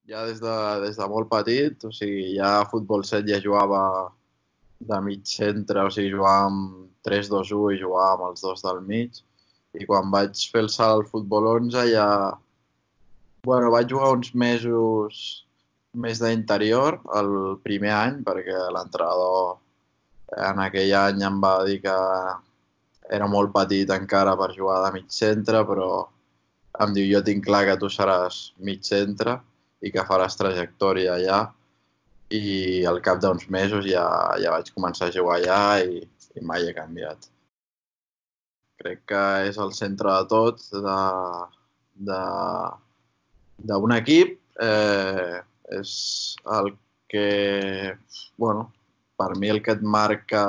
Ja des de molt petit, o sigui, ja a futbol 7 ja jugava de mig centre, o sigui, jugàvem 3-2-1 i jugàvem els dos del mig. I quan vaig fer el salt al futbol 11 ja... Bueno, vaig jugar uns mesos més d'interior el primer any, perquè l'entrenador en aquell any em va dir que era molt petit encara per jugar de mig centre, però em diu, jo tinc clar que tu seràs mig centre i que faràs trajectòria allà. I al cap d'uns mesos ja vaig començar a jugar allà i mai he canviat. Crec que és el centre de tot, de, d'un equip. És el que, bueno, per mi el que et marca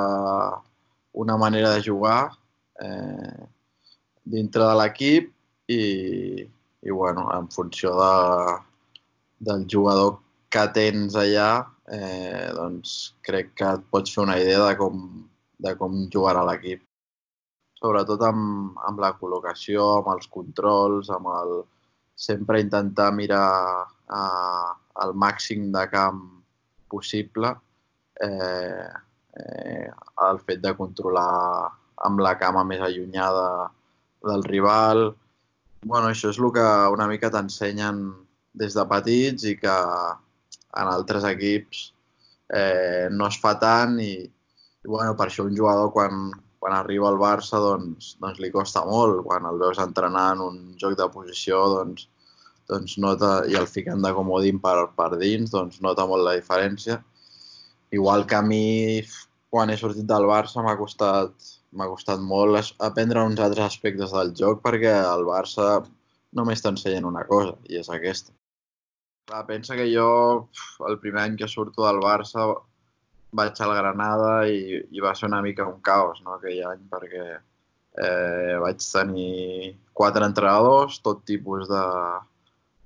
una manera de jugar dintre de l'equip i bueno, en funció del jugador que tens allà, doncs crec que et pots fer una idea de com jugarà l'equip. Sobretot amb la col·locació, amb els controls, sempre intentar mirar el màxim de camp possible, el fet de controlar amb la cama més allunyada del rival. Bueno, això és el que una mica t'ensenyen des de petits i que en altres equips no es fa tant i bueno, per això un jugador quan arriba al Barça doncs li costa molt. Quan el veus entrenar en un joc de posició doncs nota, i el fiquen de comodín per dins, doncs nota molt la diferència. Igual que a mi, quan he sortit del Barça, m'ha costat molt aprendre uns altres aspectes del joc perquè al Barça només t'ensenyen una cosa, i és aquesta. Clar, pensa que jo, el primer any que surto del Barça, vaig al Granada i va ser una mica un caos, no, aquell any, perquè vaig tenir 4 entrenadors, tot tipus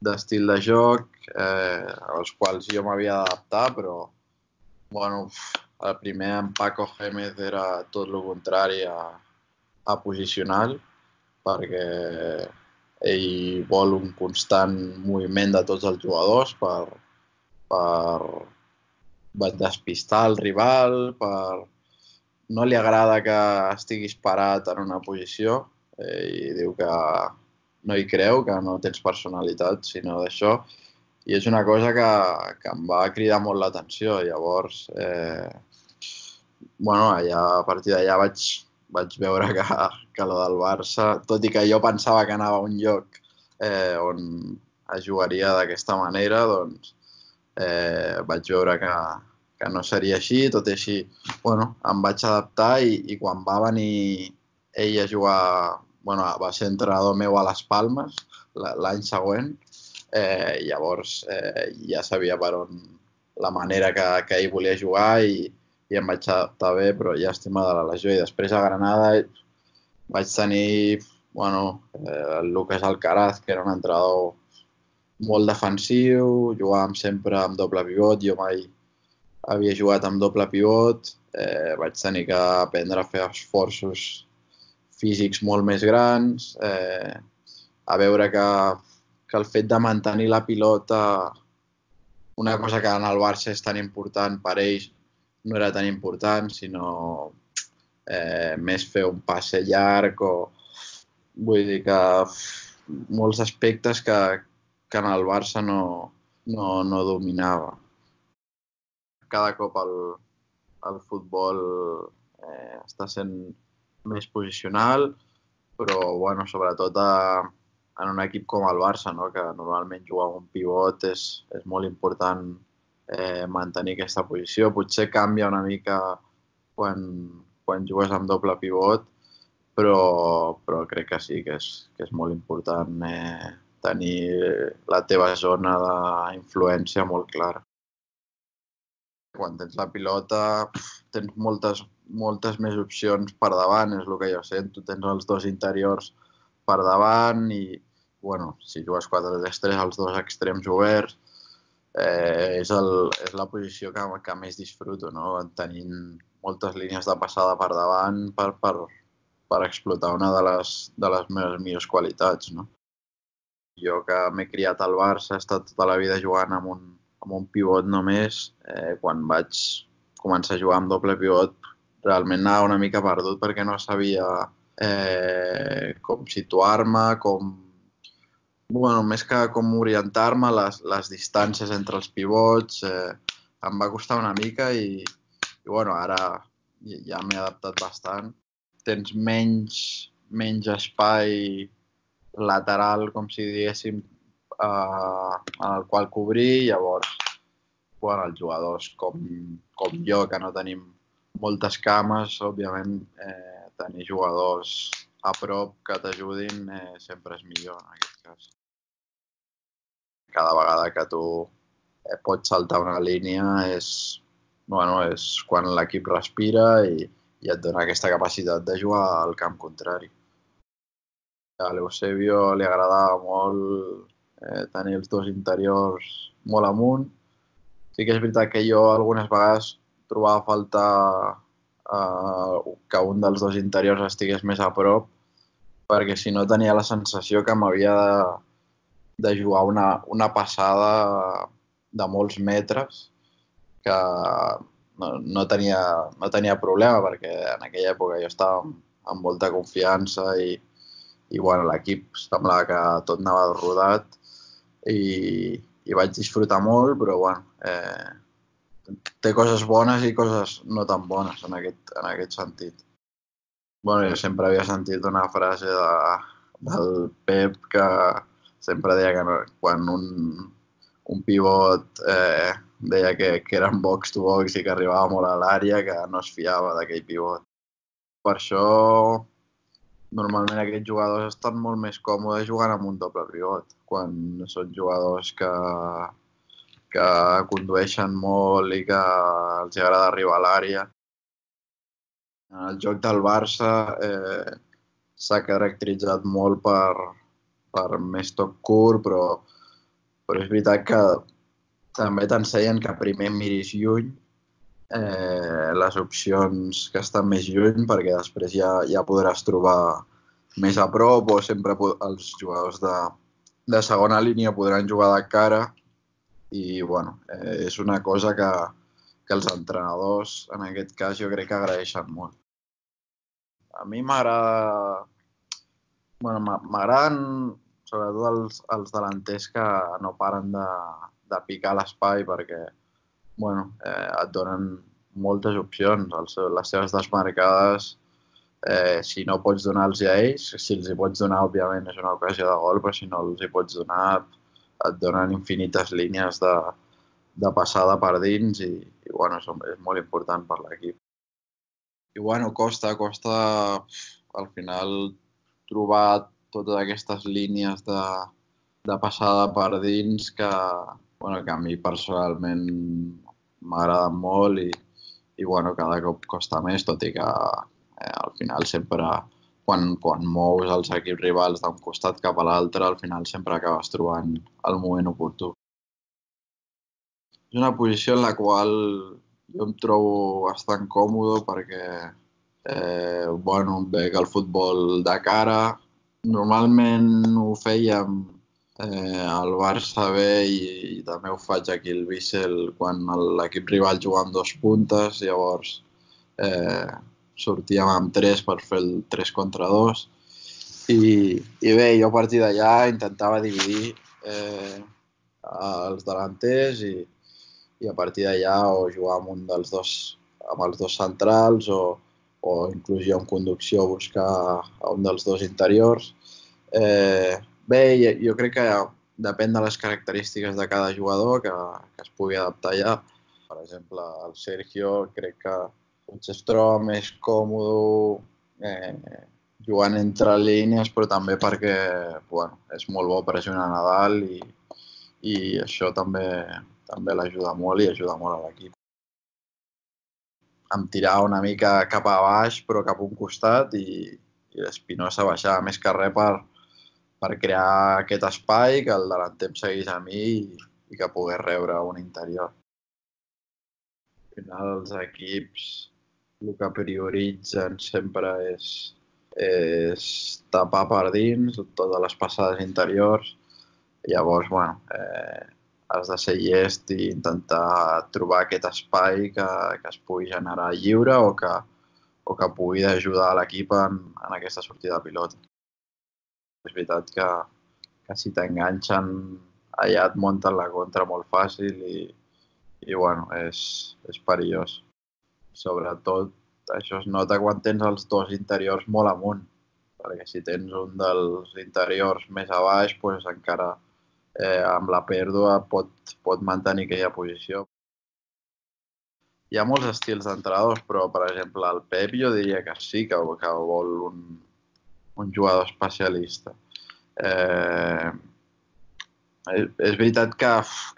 d'estil de joc, als quals jo m'havia d'adaptar, però bueno, el primer en Paco Gémez era tot el contrari a posicional, perquè ell vol un constant moviment de tots els jugadors per despistar el rival, no li agrada que estiguis parat en una posició i diu que no hi creu, que no tens personalitat, sinó d'això. I és una cosa que em va cridar molt l'atenció. Llavors, bueno, a partir d'allà vaig veure que lo del Barça, tot i que jo pensava que anava a un lloc on es jugaria d'aquesta manera, doncs vaig veure que no seria així, tot i així, bueno, em vaig adaptar i quan va venir ell a jugar, bueno, va ser entrenador meu a les Palmes l'any següent, llavors ja sabia per on la manera que ell volia jugar i em vaig adaptar bé, però llàstima de la lesió. I després a Granada vaig tenir, bueno, el Lucas Alcaraz, que era un entrenador molt defensiu, jugàvem sempre amb doble pivot, jo mai havia jugat amb doble pivot, vaig tenir que aprendre a fer esforços físics molt més grans, a veure que el fet de mantenir la pilota, una cosa que en el Barça és tan important, per ells no era tan important, sinó més fer un passe llarg o... Vull dir que molts aspectes que en el Barça no dominava. Cada cop el futbol està sent més posicional, però bueno, sobretot en un equip com el Barça, no? Que normalment jugar amb un pivot és molt important mantenir aquesta posició. Potser canvia una mica quan jugues amb doble pivot, però crec que sí, que és molt important tenir la teva zona d'influència molt clara. Quan tens la pilota tens moltes més opcions per davant, és el que jo sento. Tens els dos interiors per davant i, bueno, si jugues 4-3-3, els dos extrems oberts, és la posició que més disfruto, no? Tenint moltes línies de passada per davant per explotar una de les meves millors qualitats, no? Jo que m'he criat al Barça, he estat tota la vida jugant amb un pivot només. Quan vaig començar a jugar amb doble pivot, realment anava una mica perdut perquè no sabia com situar-me, Bueno, més que com orientar-me, les distàncies entre els pivots, em va costar una mica i bueno, ara ja m'he adaptat bastant. Tens menys espai lateral, com si diguéssim, en el qual cobrir, llavors, bueno, els jugadors com jo, que no tenim moltes cames, òbviament, tenir jugadors a prop que t'ajudin sempre és millor en aquest cas. Cada vegada que tu pots saltar una línia és quan l'equip respira i et dona aquesta capacitat de jugar al camp contrari. A l'Eusebio li agradava molt tenir els dos interiors molt amunt. Sí que és veritat que jo algunes vegades trobava a faltar que un dels dos interiors estigués més a prop, perquè si no tenia la sensació que m'havia de jugar una passada de molts metres que no tenia problema, perquè en aquella època jo estava amb molta confiança i bueno, l'equip semblava que tot anava rodat i vaig disfrutar molt, però bueno, té coses bones i coses no tan bones en aquest sentit. Bueno, jo sempre havia sentit una frase del Pep que sempre deia que quan un pivot deia que era en box to box i que arribava molt a l'àrea, que no es fiava d'aquell pivot. Per això, normalment aquests jugadors estan molt més còmodes jugant amb un doble pivot, quan són jugadors que condueixen molt i que els agrada arribar a l'àrea. En el joc del Barça s'ha caracteritzat molt per més toc curt, però és veritat que també t'ensenyen que primer miris lluny les opcions que estan més lluny, perquè després ja podràs trobar més a prop, o sempre els jugadors de segona línia podran jugar de cara i bueno, és una cosa que els entrenadors en aquest cas jo crec que agraeixen molt. A mi m'agraden sobretot els delanters que no paren de picar l'espai perquè et donen moltes opcions. Les seves desmarcades, si no pots donar-los a ells, si els hi pots donar, òbviament, és una ocasió de gol, però si no els hi pots donar, et donen infinites línies de passada per dins i bueno, és molt important per l'equip. I bueno, costa al final trobar totes aquestes línies de passada per dins que a mi personalment m'agraden molt i bueno, cada cop costa més, tot i que al final sempre quan mous els equips rivals d'un costat cap a l'altre, al final sempre acabes trobant el moment oportú. És una posició en la qual jo em trobo bastant còmode perquè veig el futbol de cara. Normalment ho fèiem al Barça B i també ho faig aquí al Vissel quan l'equip rival juga amb 2 puntes, llavors sortíem amb 3 per fer el 3 contra 2 i bé, jo a partir d'allà intentava dividir els delanters i a partir d'allà o jugar amb els dos centrals o inclús jo en conducció buscar un dels dos interiors. Bé, jo crec que depèn de les característiques de cada jugador que es pugui adaptar ja. Per exemple, el Sergio crec que potser es troba més còmode jugant entre línies, però també perquè és molt bo pressionar Nadal i això també l'ajuda molt i ajuda molt a l'equip. Em tirava una mica cap a baix, però cap a un costat i l'Espinosa baixava més que res per crear aquest espai, que el delanter em seguís a mi i que pogués rebre un interior. Al final els equips el que prioritzen sempre és tapar per dins, totes les passades interiors, Llavors, bueno, has de ser llest i intentar trobar aquest espai que es pugui generar lliure o que pugui ajudar l'equip en aquesta sortida de pilota. És veritat que si t'enganxen allà et munten la contra molt fàcil i bueno, és perillós. Sobretot això es nota quan tens els dos interiors molt amunt, perquè si tens un dels interiors més a baix, doncs encara amb la pèrdua pot mantenir aquella posició. Hi ha molts estils d'entrenadors, però per exemple el Pep jo diria que sí, que vol un jugador especialista. És veritat que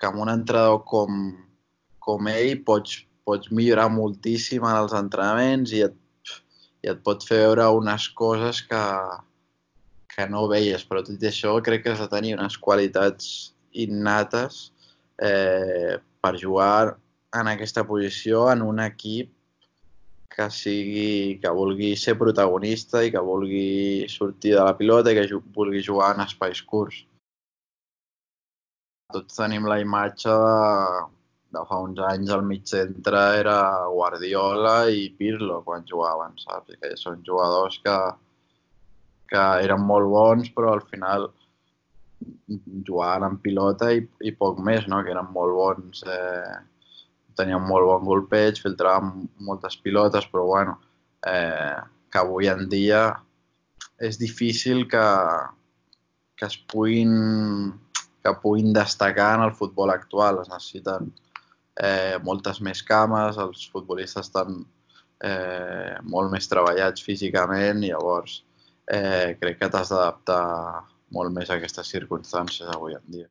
amb un entrenador com ell pots millorar moltíssim en els entrenaments i et pot fer veure unes coses que no veies, però tot i això crec que has de tenir unes qualitats innates per jugar en aquesta posició en un equip que vulgui ser protagonista i que vulgui sortir de la pilota i que vulgui jugar en espais curts. Tots tenim la imatge de fa uns anys al mig centre era Guardiola i Pirlo quan jugaven, saps? Que són jugadors que eren molt bons, però al final jugaven en pilota i poc més, no? Que eren molt bons, tenien molt bon golpeig, filtraven moltes pilotes, però bueno, que avui en dia és difícil que puguin destacar en el futbol actual. Es necessiten moltes més cames, els futbolistes estan molt més treballats físicament i llavors crec que t'has d'adaptar molt més a aquestes circumstàncies avui en dia.